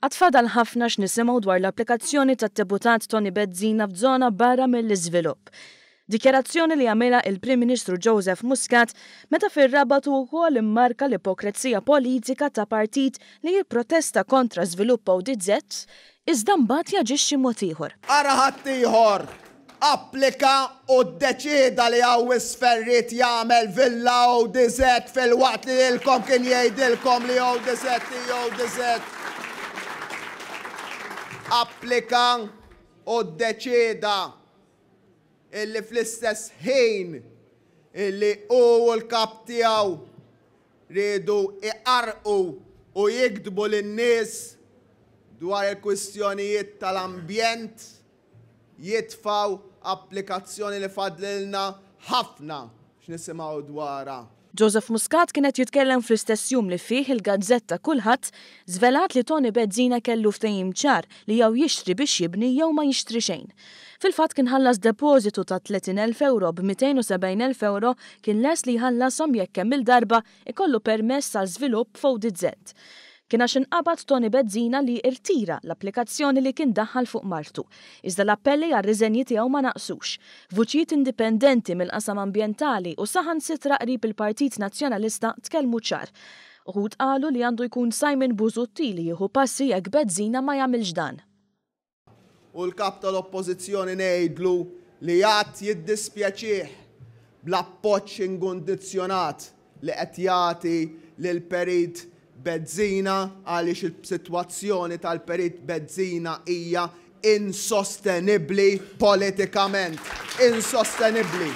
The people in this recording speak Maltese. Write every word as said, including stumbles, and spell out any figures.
Għad fadal ħafna x'nisimgħu dwar l-applikazzjoni tad-deputat Toni Bezzina f'żona barra mill-iżvilupp. Dikjarazzjoni li għamilha il-Prim Ministru Joseph Muscat meta fir-Rabat u wkoll immarka l-ipokrezija politika ta' partit li jipprotesta kontra żvilupp O D Z, iżda mbagħad jaġixxi mod ieħor. Ara ħaddieħor applika u ddeċida li hawn isfel ried jagħmel villa O D Z filwaqt li lilkom kien jgħidilkom li O D Z O D Z. Applika u ddeċida illi fl-istess ħin illi u l-kap tiegħu riedu iqarqu u jikdbu lin-nies dwar il-kwistjonijiet tal-ambjent, jitfaw applikazzjoni li fadlilna ħafna x'nisimgħu dwarha. Joseph Muscat kien qed jitkellem fl-istess jum li fih il-gazzetta Kullħadd żvelat li Toni Bezzina kellu ftehim ċar li jew jixtri biex jibni jew ma jixtri xejn. Fil-fatt kien ħallas depożitu ta' tletin elf euro, b'mitejn u sebgħin elf euro kien les li jħallasom jekk kemm il-darba ikollu permess għal żvilupp f'O D Z. Kien għax inqabad Toni Bezzina li irtira l-applikazzjoni li kien daħħal fuq martu. Iżda l-appelli għal riżenji tiegħu ma naqsux. Vuċijiet indipendenti mill-qasam ambjentali u saħansitra qrib il-Partit Nazzjonalista tkellmu ċar. Uħud qalu li għandu jkun Simon Busuttil li jieħu passi jekk Bezzina ma jagħmilx dan. U l-kap tal-oppożizzjoni ngħidlu li għad jiddispjaċih bl-appoġġ inkondizzjonat li qed jagħti lil Perit Bezzina, għaliex il-sitwazzjoni tal-Perit Bezzina hija insostenibbli politikament. Insostenibbli.